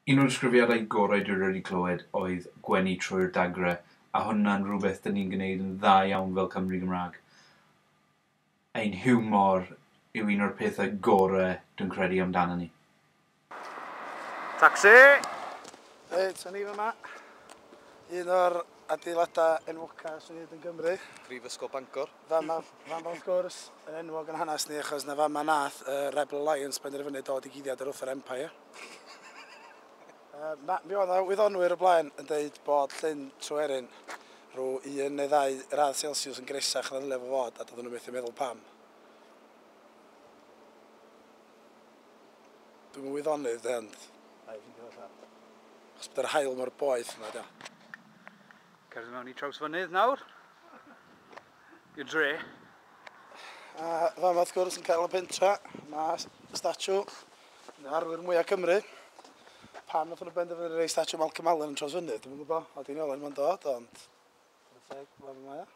Un o'r disgrifiadau gorau dwi wedi clywed oedd gwenu trwy'r dagre, a hwnna'n rhywbeth 'dyn ni'n gwneud yn dda iawn fel Cymry Gymraeg. Ein hiwmor yw un o'r pethau gorau dwi'n credu amdano ni. Tacsi! Reit, o'n i fyma. Un o'r adeiladau enwoca sy'n hyd yn Gymru. Prifysgol Bangor. Fama, fama wrth gwrs, yn enwog yn hanes ni achos na fama nath y Rebel Alliance benderfynu dod i guddiad yr wrth yr Empire. Ma, mi oedd 'na wyddonwyr o blaen yn deud bod Llyn Tryweryn rhyw un neu ddau radd Celsius yn gresach na ddylai fo fod, a doedden nhw methu meddwl pam. Dwi'm yn wyddonydd de, ond na i ffeindio fo allan. Achos bod yr haul mor boeth yma, dio. Cerdded mewn i Trawsfynydd nawr. I'r dre. A fama wrth gwrs yn cael y pentra, mae statue un o arwyr mwyaf Cymru. Pam nath nhw benderfynu rhoi statue Malcolm Allen yn Trawsfynydd, dwi'm yn gwybod, a di'n ôl mae'n dod, ond... Chwarae teg, fama mae o.